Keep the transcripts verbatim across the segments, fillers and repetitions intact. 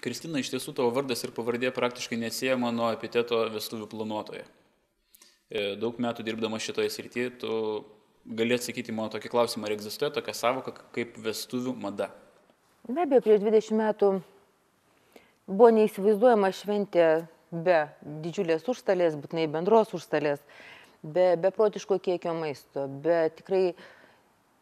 Kristina, iš tiesų tavo vardas ir pavardė praktiškai neatsiejama nuo epiteto vestuvių planuotoje. Daug metų dirbdama šitoje srityje, tu gali atsakyti mano tokį klausimą, ar egzistuoja tokia savoka kaip vestuvių mada? Be abejo, prieš dvidešimt metų buvo neįsivaizduojama šventė be didžiulės užstalės, būtinai bendros užstalės, be beprotiško kiekio maisto, be tikrai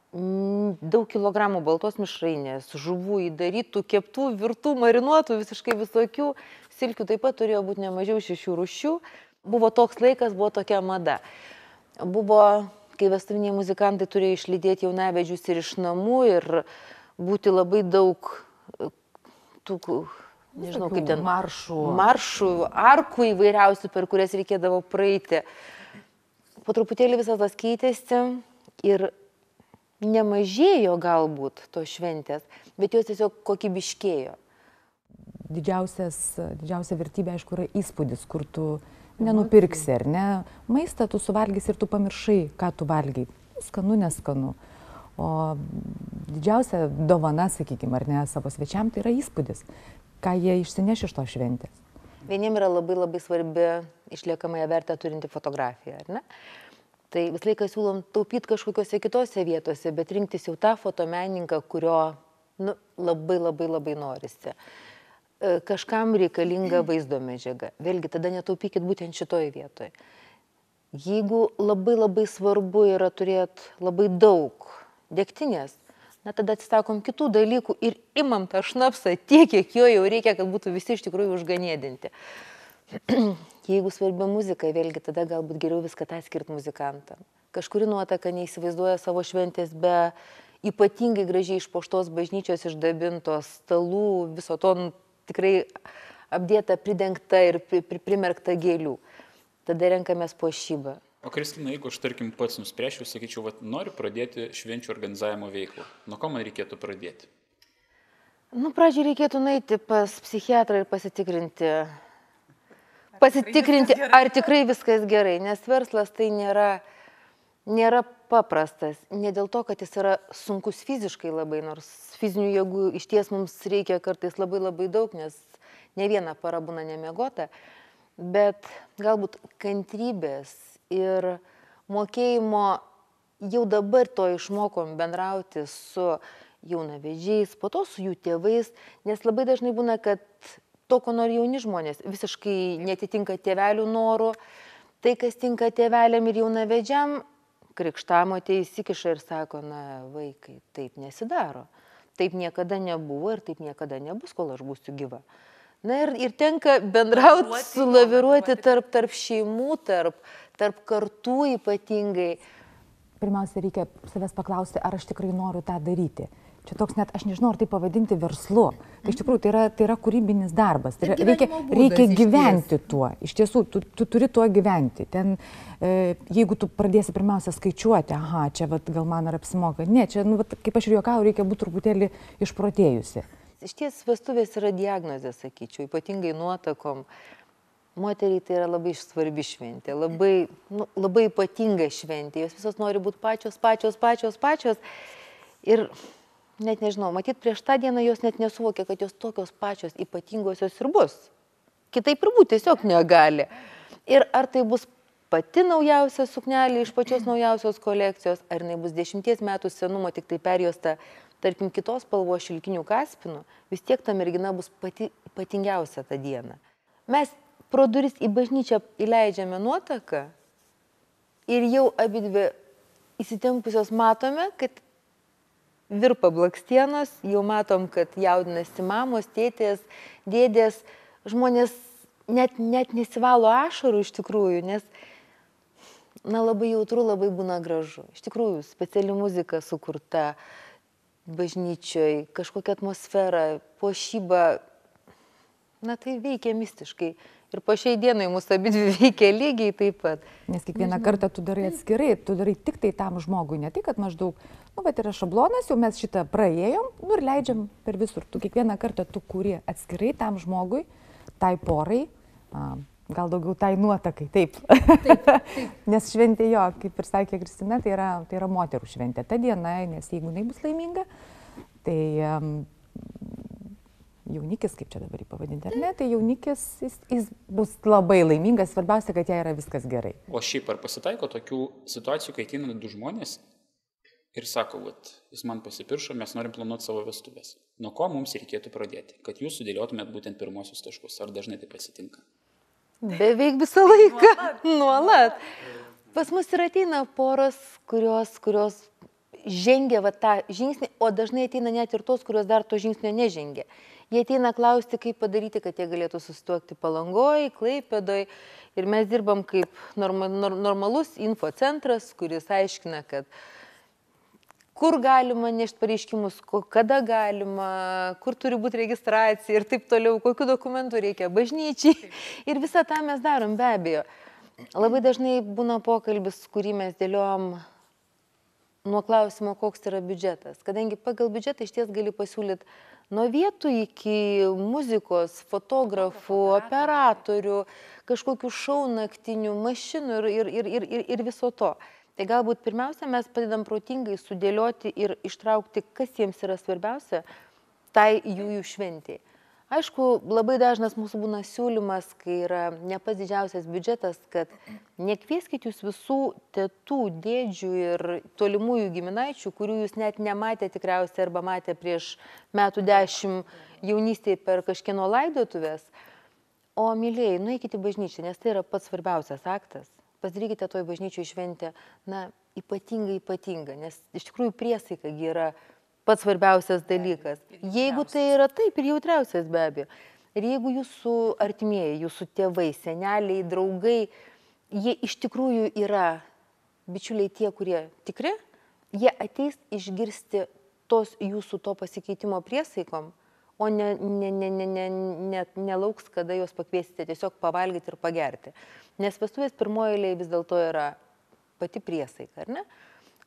daug kilogramų baltos mišrainės, žuvų įdarytų, keptų, virtų, marinuotų, visiškai visokių, silkių taip pat turėjo būti ne mažiau šešių rūšių. Buvo toks laikas, buvo tokia mada. Buvo, kai vestuviniai muzikantai turėjo išlydėti jaunavedžius ir iš namų ir būti labai daug tų, nežinau kaip ten, maršų, maršų, arkų įvairiausių, per kurias reikėdavo praeiti. Po truputėlį visas tas keitėsi ir nemažėjo galbūt tos šventės, bet jos tiesiog kokybiškėjo. Didžiausias, didžiausia vertybė, aišku, yra įspūdis, kur tu nenupirksi, ar ne? Maistą tu suvalgysi ir tu pamiršai, ką tu valgai. Skanu, neskanu. O didžiausia dovana, sakykime, ar ne, savo svečiam, tai yra įspūdis, ką jie išsineš iš to šventės. Vieniem yra labai labai svarbi išliekamąją vertę turinti fotografija, ar ne? Tai vis laiką siūlom taupyti kažkokiose kitose vietose, bet rinktis jau tą fotomenininką, kurio nu, labai labai labai norisi. Kažkam reikalinga vaizdo medžiaga. Vėlgi, tada netaupykit būtent šitoje vietoje. Jeigu labai labai svarbu yra turėti labai daug degtinės, na tada atsisakom kitų dalykų ir imam tą šnapsą tiek, kiek jo jau reikia, kad būtų visi iš tikrųjų užganėdinti. Jeigu svarbi muzika, vėlgi tada galbūt geriau viską tą skirti muzikantam. Kažkuri nuotaka neįsivaizduoja savo šventės be ypatingai gražiai išpuoštos bažnyčios, išdabintos stalų, viso to tikrai apdėta, pridengta ir pri, pri, primerkta gėlių. Tada renkamės puošybą. O Kristina, jeigu aš tarkim pats nuspręšiu, sakyčiau, vat, noriu pradėti švenčių organizavimo veiklą, nuo ko man reikėtų pradėti? Nu, pradžiai reikėtų nueiti pas psichiatrą ir pasitikrinti. Pasitikrinti, ar tikrai viskas gerai, nes verslas tai nėra, nėra paprastas. Ne dėl to, kad jis yra sunkus fiziškai labai, nors fizinių jėgų iš ties mums reikia kartais labai labai daug, nes ne viena para būna nemiegota, bet galbūt kantrybės ir mokėjimo jau dabar to išmokom bendrauti su jaunavedžiais, po to su jų tėvais, nes labai dažnai būna, kad to, ko nori jauni žmonės, visiškai netitinka tėvelių norų. Tai, kas tinka tėveliam ir jaunavedžiam, krikštamotė įsikiša ir sako, na, vaikai, taip nesidaro. Taip niekada nebuvo ir taip niekada nebus, kol aš būsiu gyva. Na ir, ir tenka bendrauti, sulaviruoti tarp, tarp šeimų, tarp, tarp kartų ypatingai. Pirmiausia, reikia savęs paklausti, ar aš tikrai noriu tą daryti. Čia toks net, aš nežinau, ar tai pavadinti verslu. Tai iš tikrųjų, tai yra, tai yra kūrybinis darbas. Tai yra, reikia, reikia gyventi tuo. Iš tiesų, tu, tu turi tuo gyventi. Ten, e, jeigu tu pradėsi pirmiausia skaičiuoti, aha, čia vat, gal man ar apsimoka. Ne, čia, nu, vat, kaip aš ir juokau, reikia būti truputėlį išprotėjusi. Iš ties vestuvės yra diagnozė, sakyčiau, ypatingai nuotakom. Moteriai tai yra labai svarbi šventė, labai, nu, labai ypatinga šventė. Jos visos nori būti pačios, pačios, pačios, pačios. Ir net nežinau, matyt, prieš tą dieną jos net nesuvokė, kad jos tokios pačios ypatingosios ir bus. Kitaip ir būti tiesiog negali. Ir ar tai bus pati naujausia suknelė iš pačios naujausios kolekcijos, ar jinai bus dešimties metų senumo, tik tai perjuosta, tarkim, kitos spalvos šilkinių kaspinų, vis tiek ta mergina bus pati ypatingiausia tą dieną. Mes pro duris į bažnyčią įleidžiame nuotaką ir jau abidvi įsitempusios matome, kad virpa blakstienos, jau matom, kad jaudinasi mamos, tėtės, dėdės, žmonės net, net nesivalo ašarų iš tikrųjų, nes na, labai jautru, labai būna gražu. Iš tikrųjų, speciali muzika sukurta bažnyčioj, kažkokia atmosfera, puošyba, na tai veikia mistiškai. Ir po šiai dienai mūsų abidvi veikia lygiai taip pat. Nes kiekvieną kartą tu darai atskirai, tu darai tik tai tam žmogui, ne tai, kad maždaug, nu, bet yra šablonas, jau mes šitą praėjom, nu ir leidžiam per visur. Tu kiekvieną kartą tu kūri atskirai tam žmogui, tai porai, a, gal daugiau tai nuotakai, taip. taip, taip. Nes šventė jo, kaip ir sakė Kristina, tai yra, tai yra moterų šventė. Ta diena, nes jeigu jinai bus laiminga, tai um, jaunikis, kaip čia dabar jį pavadinti, ar ne, tai jaunikis, jis, jis bus labai laimingas, svarbiausia, kad jai yra viskas gerai. O šiaip ar pasitaiko tokių situacijų, kai ateina du žmonės ir sako, vat, jis man pasipiršo, mes norim planuoti savo vestuvės. Nuo ko mums reikėtų pradėti, kad jūs sudėliotumėt būtent pirmosius taškus? Ar dažnai tai pasitinka? Beveik visą laiką. Nuolat. Pas mus ir ateina poros, kurios, kurios žengia va, tą žingsnį, o dažnai ateina net ir tos, kurios dar to žingsnio nežengia. Jie ateina klausti, kaip padaryti, kad jie galėtų susituokti Palangoj, Klaipėdoj. Ir mes dirbam kaip norma, normalus infocentras, kuris aiškina, kad kur galima nešti pareiškimus, kada galima, kur turi būti registracija ir taip toliau, kokiu dokumentu reikia bažnyčiai. Ir visą tą mes darom, be abejo. Labai dažnai būna pokalbis, kurį mes dėliojom nuo klausimo, koks yra biudžetas. Kadangi pagal biudžetą iš ties gali pasiūlyti nuo vietų iki muzikos, fotografų, operatorių, kažkokių šou naktinių, mašinų ir, ir, ir, ir, ir viso to. Tai galbūt pirmiausia, mes padedam protingai sudėlioti ir ištraukti, kas jiems yra svarbiausia, tai jų jų šventėjai. Aišku, labai dažnas mūsų būna siūlymas, kai yra ne pats didžiausias biudžetas, kad nekvieskit jūs visų tetų, dėdžių ir tolimųjų giminaičių, kurių jūs net nematė tikriausiai arba matė prieš metų dešimt jaunystėje per kažkieno laidotuvės, o mylėjai, nueikite į bažnyčią, nes tai yra pats svarbiausias aktas. Pasidarykite toj bažnyčioj šventę, na, ypatingai ypatinga, nes iš tikrųjų priesaika yra pats svarbiausias dalykas. Jeigu tai yra taip ir jautriausias be abejo. Ir jeigu jūsų artimieji, jūsų tėvai, seneliai, draugai, jie iš tikrųjų yra bičiuliai tie, kurie tikri, jie ateis išgirsti tos jūsų to pasikeitimo priesaikom, o ne, ne, ne, ne, ne, ne, nelauks, kada juos pakviesite tiesiog pavalgyti ir pagerti. Nes vestuvės pirmoje eilėje vis dėlto yra pati priesaika, ar ne?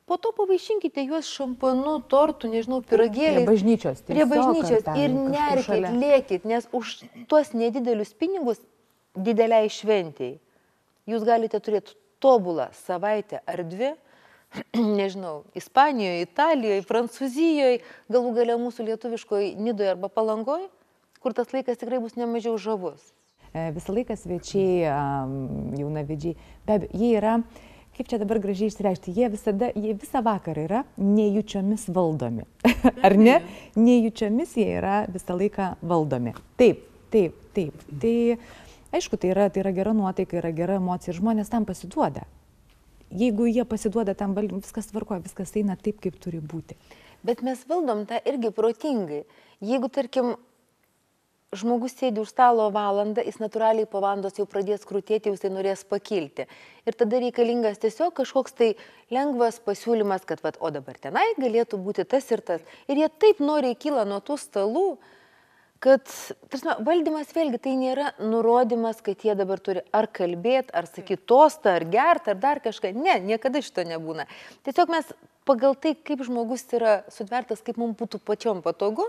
Po to pavaišinkite juos šampanu, tortų, nežinau, pyragėliais. Prie bažnyčios. Prie bažnyčios ir nerkit, lėkit, nes už tuos nedidelius pinigus dideliai šventėjai jūs galite turėti tobulą savaitę ar dvi, nežinau, Ispanijoje, Italijoje, Prancūzijoje, galų gale mūsų lietuviškoje Nidoje arba Palangoje, kur tas laikas tikrai bus nemažiau žavus. Visą laiką svečiai, jaunavedžiai, be abejo, jie yra, kaip čia dabar gražiai išsireikšti, jie visada, jie visą vakarą yra nejučiomis valdomi. Ar ne? Nejučiomis jie yra visą laiką valdomi. Taip, taip, taip. Tai aišku, tai yra, tai yra gera nuotaika, yra gera emocija ir žmonės tam pasiduoda. Jeigu jie pasiduoda tam valdymui, viskas tvarkoja, viskas eina taip, kaip turi būti. Bet mes valdom tą irgi protingai. Jeigu, tarkim, žmogus sėdi už stalo valandą, jis natūraliai po valandos jau pradės krūtėti, jau jisai norės pakilti. Ir tada reikalingas tiesiog kažkoks tai lengvas pasiūlymas, kad, vat, o dabar tenai galėtų būti tas ir tas. Ir jie taip noriai kyla nuo tų stalų, kad tarsime, valdymas vėlgi tai nėra nurodymas, kad jie dabar turi ar kalbėti, ar sakyti tostą, ar gerti, ar dar kažką. Ne, niekada šito nebūna. Tiesiog mes pagal tai, kaip žmogus yra sutvertas, kaip mums būtų pačiom patogu,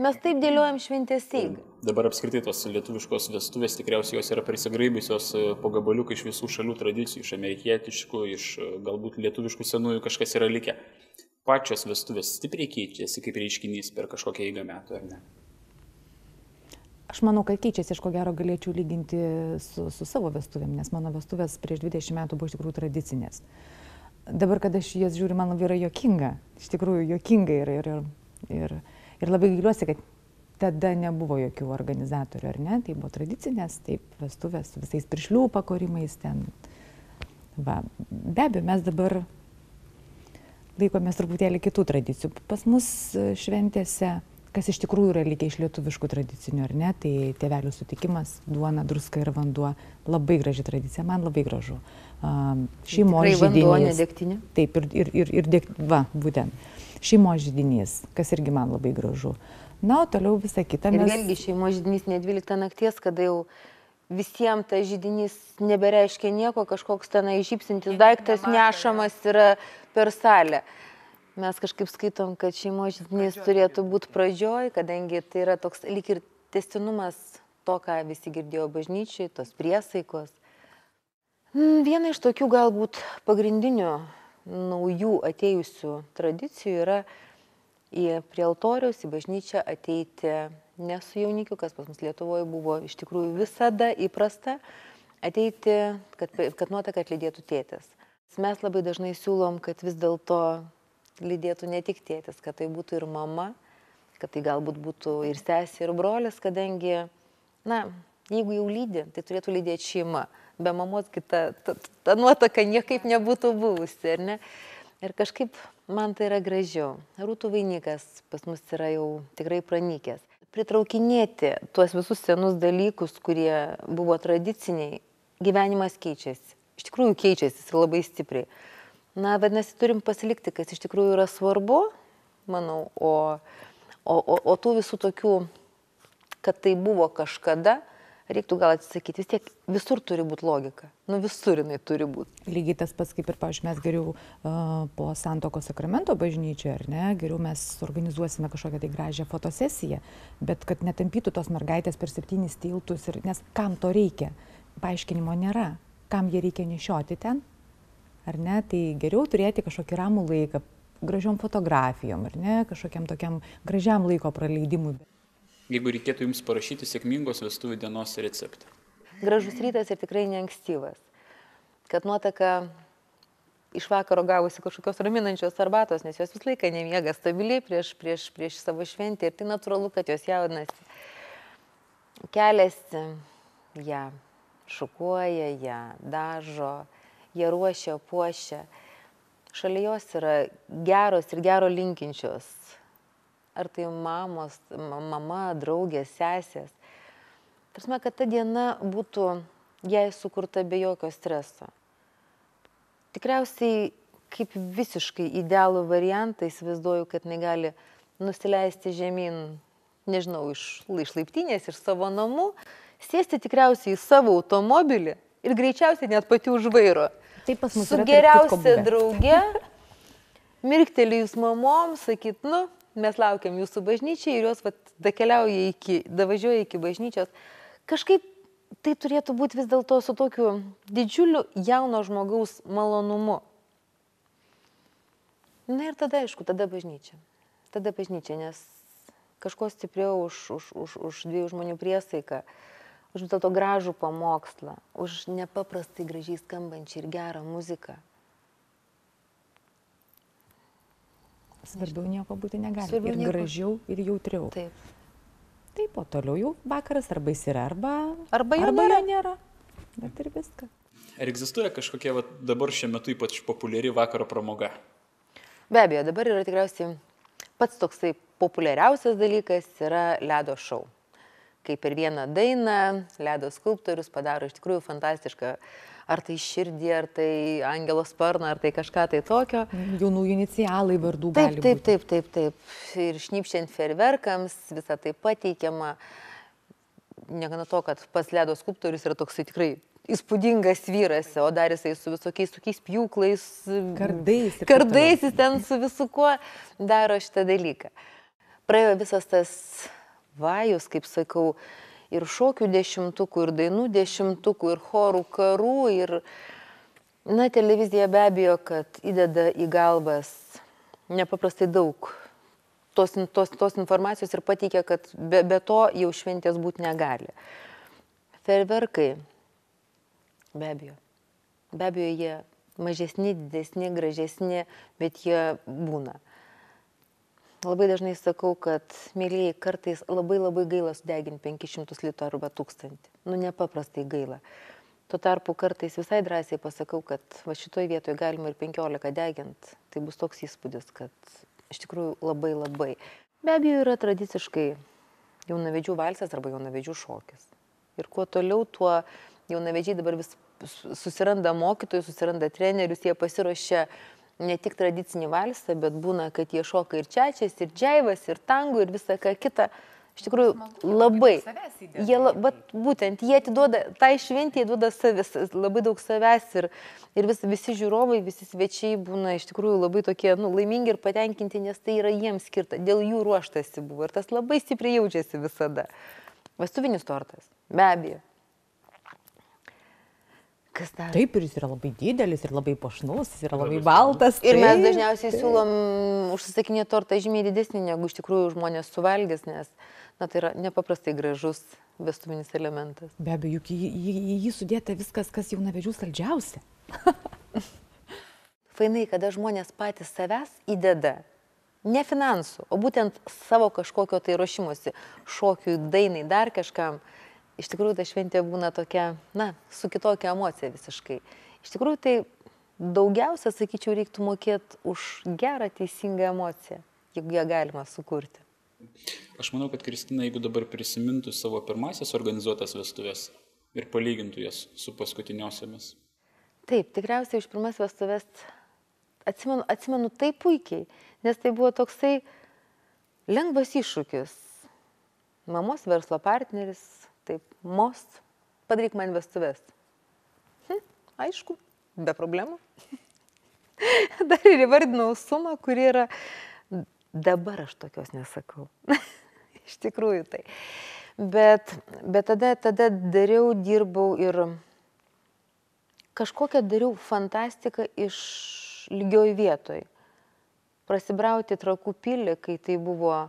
mes taip dėliojam šventės eigą. Dabar apskritai tos lietuviškos vestuvės tikriausiai jos yra prisigraibusios po gabaliuką iš visų šalių tradicijų, iš amerikietiškų, iš galbūt lietuviškų senųjų kažkas yra likę. Pačios vestuvės stipriai keičiasi kaip reiškinys per kažkokią eigą metų, ar ne? Aš manau, kad keičiasi, aš ko gero galėčiau lyginti su, su savo vestuvėm, nes mano vestuvės prieš dvidešimt metų buvo iš tikrųjų tradicinės. Dabar, kada aš jas žiūriu, man labai yra juokinga, iš tikrųjų juokinga ir, ir, ir, ir labai gailiuosi, kad tada nebuvo jokių organizatorių, ar ne? Tai buvo tradicinės, taip, vestuvės su visais piršlių pakorimais ten. Va, be abejo, mes dabar laikomės truputėlį kitų tradicijų. Pas mus šventėse, kas iš tikrųjų yra likę iš lietuviškų tradicinių, ar ne, tai tėvelių sutikimas, duona, druska ir vanduo. Labai graži tradicija, man labai gražu. Uh, šeimos židinys. Vanduo, ne degtinė? Taip, ir, ir, ir, ir deg, va, būtent. Šeimos židinys, kas irgi man labai gražu. Na, o toliau visą kitą mes... Ir vėlgi šeimos židinys ne dvyliktą nakties, kada jau visiems tas židinys nebereiškia nieko, kažkoks tenai žypsintis daiktas nešamas yra per salę. Mes kažkaip skaitom, kad šeimos židinys turėtų būti pradžioj, kadangi tai yra toks lyg ir tęstinumas to, ką visi girdėjo bažnyčiai, tos priesaikos. Viena iš tokių galbūt pagrindinių naujų atėjusių tradicijų yra į prie altoriaus, į bažnyčią ateiti ne su jaunikiu, kas pas mus Lietuvoje buvo iš tikrųjų visada įprasta ateiti, kad, kad nuotaką atlydėtų tėtis. Mes labai dažnai siūlom, kad vis dėlto lydėtų ne tik tėtis, kad tai būtų ir mama, kad tai galbūt būtų ir sesė, ir brolis, kadangi, na, jeigu jau lydi, tai turėtų lydėti šeima. Be mamos kita ta, ta nuotaka niekaip nebūtų buvusi, ar ne? Ir kažkaip man tai yra gražiau. Rūtų vainikas pas mus yra jau tikrai pranykęs. Pritraukinėti tuos visus senus dalykus, kurie buvo tradiciniai, gyvenimas keičiasi. Iš tikrųjų keičiasi ir labai stipriai. Na, vadinasi, turim pasilikti, kas iš tikrųjų yra svarbu, manau, o, o, o, o tų visų tokių, kad tai buvo kažkada, reiktų gal atsisakyti. Vis tiek visur turi būti logika. Nu visur jinai turi būti. Lygiai tas pats, kaip ir, pavyzdžiui, mes geriau uh, po Santuokos sakramento bažnyčioje, ar ne, geriau mes organizuosime kažkokią tai gražią fotosesiją, bet kad netampytų tos mergaitės per septynis tiltus, ir, nes kam to reikia? Paaiškinimo nėra. Kam jie reikia nešioti ten? Ar ne? Tai geriau turėti kažkokį ramų laiką, gražiom fotografijom, ar ne, kažkokiam tokiam gražiam laiko praleidimui. Jeigu reikėtų jums parašyti sėkmingos vestuvių dienos receptą. Gražus rytas ir tikrai neankstyvas. Kad nuotaka iš vakaro gavusi kažkokios raminančios arbatos, nes jos visą laiką nemiega stabiliai prieš, prieš, prieš savo šventę ir tai natūralu, kad jos jaudinasi. Keliasi, ją šukuoja, ją dažo, ją ruošia, puošia. Šalia jos yra geros ir gero linkinčios. Ar tai mamos, mama, draugės, sesės. Tarsi, kad ta diena būtų jai sukurta be jokio streso. Tikriausiai kaip visiškai idealų variantą įsivaizduoju, kad jinai gali nusileisti žemyn, nežinau, iš, iš laiptinės, iš savo namų, sėsti tikriausiai į savo automobilį ir greičiausiai net pati už vairo. Taip pas mus su yra geriausia drauge, mirktelėjus mamom, sakyt, nu, mes laukiam jūsų bažnyčiai ir jos vat, dakeliauja iki, davažiuoja iki bažnyčios. Kažkaip tai turėtų būti vis dėlto su tokiu didžiuliu jauno žmogaus malonumu. Na ir tada, aišku, tada bažnyčia. Tada bažnyčia, nes kažko stipriau už, už, už, už dviejų žmonių priesaiką, už vis dėlto gražų pamokslą, už nepaprastai gražiai skambančią ir gerą muziką. Svarbiau nieko būti negali. Svarbiau ir nieko. Gražiau, ir jautriau. Taip. Taip, o toliau jau vakaras arba jis yra, arba, arba jo arba nėra. jo nėra. Bet ir viską. Ar egzistuoja kažkokia va, dabar šiuo metu ypač populiari vakaro pramoga? Be abejo, dabar yra tikriausiai pats toksai populiariausias dalykas yra ledo šou. Kai per vieną dainą ledo skulptorius padaro iš tikrųjų fantastišką, ar tai širdį, ar tai angelo sparną, ar tai kažką tai tokio. Jaunųjų inicialai vardų Taip, gali taip, būti. taip, taip, taip. Ir šnypščiant fejerverkams, visą tai pateikiama. Negana to, kad pats ledo skulptorius yra toksai tikrai įspūdingas vyras, o dar jisai su visokiais tokiais pjūklais, Kardais ir taip kardais jis ten su visu kuo daro šitą dalyką. Praėjo visas tas vajus, kaip sakau, ir šokių dešimtukų, ir dainų dešimtukų, ir chorų karų, ir, na, televizija be abejo, kad įdeda į galvas nepaprastai daug tos, tos, tos informacijos ir pateikia, kad be, be to jau šventės būti negali. Fejerverkai, be abejo, be abejo, jie mažesni, didesni, gražesni, bet jie būna. Labai dažnai sakau, kad, mėlyjei, kartais labai labai gaila sudeginti penkis šimtus litrų arba tūkstantį. Nu, nepaprastai gaila. Tuo tarpu kartais visai drąsiai pasakau, kad va šitoj vietoje galima ir penkiolika deginti. Tai bus toks įspūdis, kad iš tikrųjų labai labai. Be abejo, yra tradiciškai jaunavedžių valsas arba jaunavedžių šokis. Ir kuo toliau, tuo jaunavedžiai dabar vis susiranda mokytojus, susiranda trenerius, jie pasiruošia ne tik tradicinį valsą, bet būna, kad jie šoka ir čiačias, ir džiaivas, ir tango, ir visą ką kitą. Iš tikrųjų, labai. Jie, vat, būtent, jie atiduoda, tai šventė duoda savęs, labai daug savęs ir, ir vis, visi žiūrovai, visi svečiai būna iš tikrųjų labai tokie, nu, laimingi ir patenkinti, nes tai yra jiems skirta, dėl jų ruoštasi buvo ir tas labai stipriai jaučiasi visada. Vestuvinis tortas, be abejo. Kas dar? Taip, ir jis yra labai didelis, ir labai puošnus, jis yra labai baltas. Ir mes taip, dažniausiai taip. siūlom užsisakinėti tortą žymiai didesnį, negu iš tikrųjų žmonės suvalgys, nes na, tai yra nepaprastai gražus vestuvinis elementas. Be abejo, juk į, į, į jį sudėta viskas, kas jaunavedžių saldžiausia. Fainai, kada žmonės patys savęs įdeda, ne finansų, o būtent savo kažkokio tai ruošimusi, šokiui, dainai, dar kažkam. Iš tikrųjų, ta šventė būna tokia, na, su kitokia emocija visiškai. Iš tikrųjų, tai daugiausia, sakyčiau, reiktų mokėti už gerą, teisingą emociją, jeigu ją galima sukurti. Aš manau, kad Kristina, jeigu dabar prisimintų savo pirmasias organizuotas vestuvės ir palygintų jas su paskutiniosiamis. Taip, tikriausiai už pirmas vestuvės atsimenu, atsimenu taip puikiai, nes tai buvo toksai lengvas iššūkis. Mamos verslo partneris, taip, most, padaryk man vestuvės. Hm, aišku, be problemų. Dar ir įvardinau sumą, kuri yra, dabar aš tokios nesakau. Iš tikrųjų tai. Bet, bet tada, tada dariau, dirbau ir kažkokią dariau fantastiką iš lygioj vietoj. Prasibrauti Trakų pilį, kai tai buvo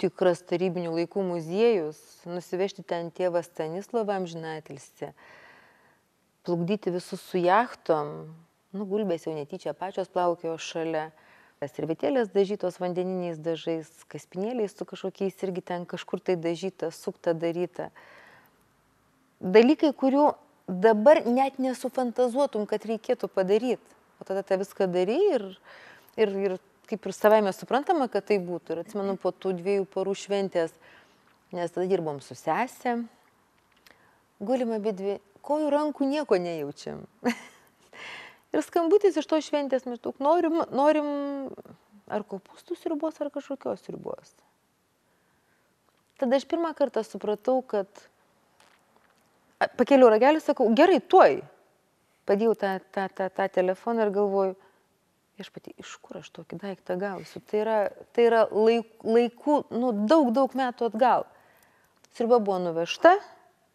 tikras tarybinių laikų muziejus, nusivežti ten tėvą Stanislavą amžinatilsį, plukdyti visus su jachtom, nu, gulbės jau netyčia pačios plaukėjo šalia, servetėlės dažytos vandeniniais dažais, kaspinėliais su kažkokiais irgi ten kažkur tai dažyta, sukta daryta. Dalykai, kurių dabar net nesufantazuotum, kad reikėtų padaryti. O tada tą viską darai ir, ir, ir kaip ir savaime suprantama, kad tai būtų. Ir atsimenu po tų dviejų porų šventės, nes tada dirbom su sesė, gulim abidvi, kojų rankų nieko nejaučiam. Ir skambutis iš to šventės maždaug, norim, norim ar kopūstų sriubos, ar kažkokios sriubos. Tada aš pirmą kartą supratau, kad pakėliau ragelį, sakau, gerai, tuoj. Padėjau tą, tą, tą, tą telefoną ir galvoju, aš pati, iš kur aš tokį daiktą gausiu? Tai yra, tai yra laik, laikų, nu, daug, daug metų atgal. Sriuba buvo nuvežta,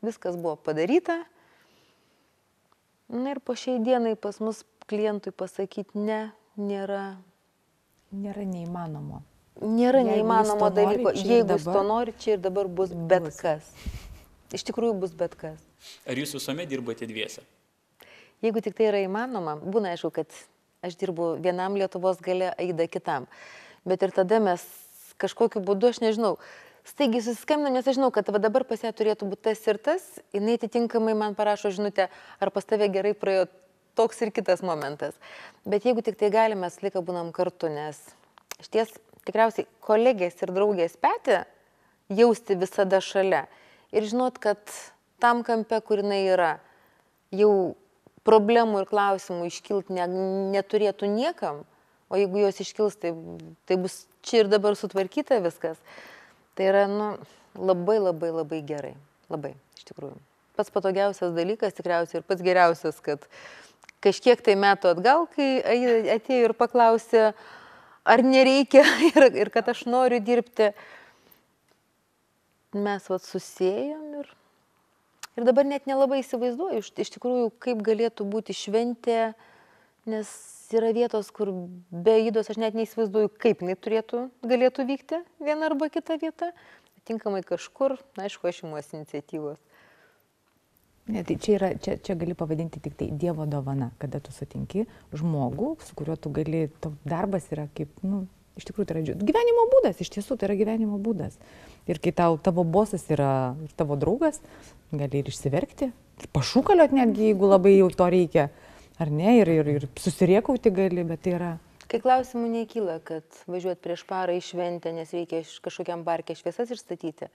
viskas buvo padaryta. Na ir po šiai dienai pas mus klientui pasakyti ne, nėra. Nėra neįmanomo. Nėra Jeigu neįmanomo jis to dalyko. nori, čia ir Jeigu jis dabar- to nori, čia ir dabar bus bet Bus. kas. Iš tikrųjų bus bet kas. Ar jūs visuomet dirbate dviese? Jeigu tik tai yra įmanoma, būna aišku, kad aš dirbu vienam Lietuvos gale, Aida kitam. Bet ir tada mes kažkokiu būdu, aš nežinau, staigiai susiskambinam, nes aš žinau, kad va dabar pas ją turėtų būti tas ir tas, jinai atitinkamai man parašo žinutę, ar pas tave gerai praėjo toks ir kitas momentas. Bet jeigu tik tai galime, mes laiką būnam kartu, nes šties tikriausiai kolegės ir draugės petį jausti visada šalia. Ir žinot, kad tam kampe, kur jinai yra, jau problemų ir klausimų iškilt ne, neturėtų niekam, o jeigu jos iškils, tai, tai bus čia ir dabar sutvarkyta viskas. Tai yra nu, labai, labai, labai gerai. Labai, iš tikrųjų. Pats patogiausias dalykas tikriausiai ir pats geriausias, kad kažkiek tai metų atgal, kai atėjo ir paklausė, ar nereikia ir, ir kad aš noriu dirbti, mes vat susėjom ir, ir dabar net nelabai įsivaizduoju, iš, iš tikrųjų, kaip galėtų būti šventė, nes yra vietos, kur be Aidos aš net neįsivaizduoju, kaip jinai turėtų, galėtų vykti viena arba kita vieta. Tinkamai kažkur, aišku, aš imuosi iniciatyvos. Ne, tai čia, yra, čia, čia gali pavadinti tik tai Dievo dovana, kada tu sutinki žmogų, su kuriuo tu gali, tavo darbas yra kaip, nu, iš tikrųjų tai yra gyvenimo būdas, iš tiesų tai yra gyvenimo būdas. Ir kai tau, tavo bosas yra ir tavo draugas, gali ir išsiverkti, ir pašūkaliot netgi, jeigu labai jau to reikia, ar ne, ir, ir, ir susiriekauti gali, bet tai yra... Kai klausimų nekyla, kad važiuoti prieš parą į šventę, nes reikia kažkokiam parke šviesas išstatyti,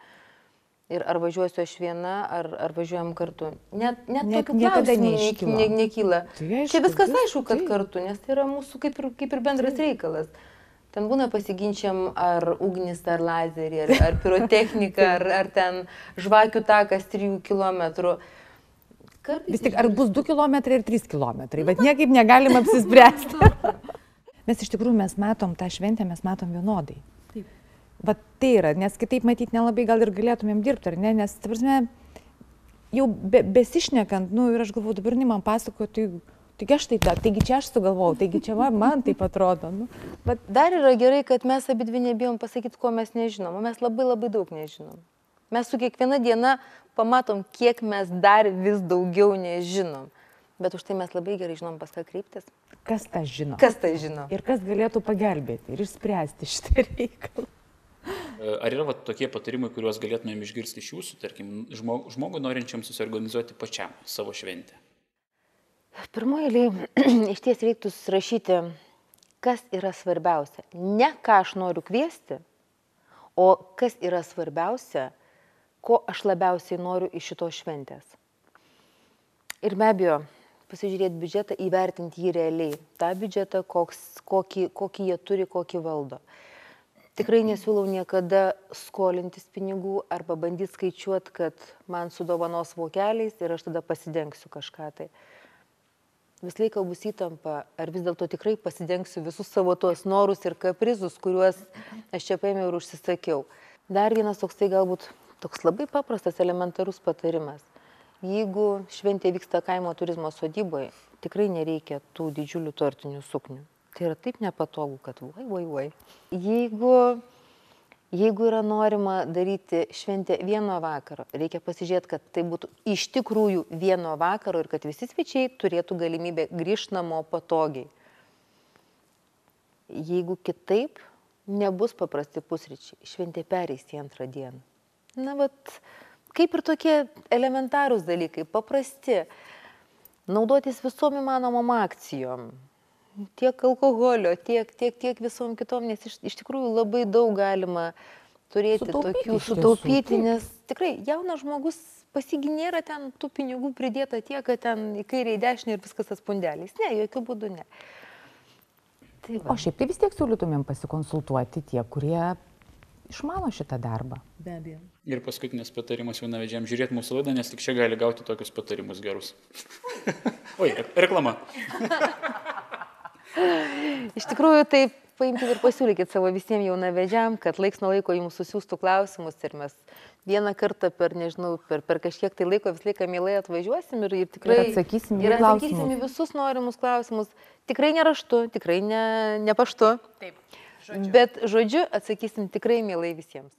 ir ar važiuosiu aš viena, ar, ar važiuojam kartu. Net, net, net tokių klausimų neiškyla. Ne, nekyla. Tai aišku, čia viskas vis, aišku, kad tai. kartu, nes tai yra mūsų kaip ir, kaip ir bendras tai. reikalas. Ten būna pasiginčiam ar ugnis, ar lazerį, ar, ar pirotechnika, ar, ar ten žvakių takas trijų kilometrų. Kartais Vis tik, ar bus du kilometrai ir trys kilometrai, bet niekaip negalim apsispręsti. Mes iš tikrųjų mes matom tą šventę, mes matom vienodai. Taip. Vat tai yra, nes kitaip matyti nelabai gal ir galėtumėm dirbti, ar ne? Nes, ta prasme, jau be, besišnekant, nu ir aš galvoju, dabar ne man pasakoju, tai, taigi aš tai ta, taigi čia aš sugalvojau, taigi čia va, man taip atrodo. Nu, bet dar yra gerai, kad mes abi dvi nebijom pasakyti, ko mes nežinom, o mes labai labai daug nežinom. Mes su kiekviena diena pamatom, kiek mes dar vis daugiau nežinom. Bet už tai mes labai gerai žinom, pas ką kreiptis. Kas tą žino? Kas tą žino? Ir kas galėtų pagelbėti ir išspręsti šitą reikalą. Ar yra va, tokie patarimai, kuriuos galėtumėm išgirsti iš jūsų, tarkim, žmog, žmogui norinčiam susiorganizuoti pačiam savo šventę? Pirmoji eilė, iš ties reiktų susirašyti, kas yra svarbiausia. Ne ką aš noriu kviesti, o kas yra svarbiausia, ko aš labiausiai noriu iš šitos šventės. Ir be abejo, pasižiūrėti biudžetą, įvertinti jį realiai. Ta biudžetą, koks, kokį, kokį jie turi, kokį valdo. Tikrai nesiūlau niekada skolintis pinigų arba bandyti skaičiuoti, kad man sudovanos vokeliais ir aš tada pasidengsiu kažką. Tai vis laiką bus įtampa, ar vis dėlto tikrai pasidengsiu visus savo tuos norus ir kaprizus, kuriuos aš čia paėmiau ir užsisakiau. Dar vienas toksai galbūt toks labai paprastas, elementarus patarimas. Jeigu šventė vyksta kaimo turizmo sodyboje, tikrai nereikia tų didžiulių tortinių suknių. Tai yra taip nepatogu, kad vai, vai, vai. Jeigu, jeigu yra norima daryti šventę vieno vakaro, reikia pasižiūrėti, kad tai būtų iš tikrųjų vieno vakaro ir kad visi svečiai turėtų galimybę grįžti namo patogiai. Jeigu kitaip, nebus paprasti pusryčiai, šventė pereis į antrą dieną. Na, vat, kaip ir tokie elementarūs dalykai, paprasti, naudotis visom įmanomom akcijom. Tiek alkoholio, tiek, tiek, tiek visom kitom, nes iš, iš tikrųjų labai daug galima turėti Sutaupyti tokių iš sutaupyti, tiesų. nes tikrai jaunas žmogus pasiginėra ten tų pinigų pridėta tiek, kad ten į kairę, į dešinę ir viskas tas pundeliais. Ne, jokių būdų ne. Tai va. O šiaip tai vis tiek siūlytumėm pasikonsultuoti tie, kurie išmano šitą darbą. Be abejo. Ir paskutinis patarimas jaunavedžiam, žiūrėti mūsų laidą, nes tik čia gali gauti tokius patarimus gerus. Oi, reklama. Iš tikrųjų, tai paimkite ir pasiūlykit savo visiems jaunavedžiam, kad laiks nuo laiko jums susiųstų klausimus ir mes vieną kartą per, nežinau, per, per kažkiek tai laiko visą laiką mielai atvažiuosim ir, ir tikrai Ir atsakysim į ir atsakysim klausimus. į visus norimus klausimus. Tikrai ne raštu, tikrai ne, ne paštu, Taip, žodžiu. bet žodžiu atsakysim tikrai mielai visiems.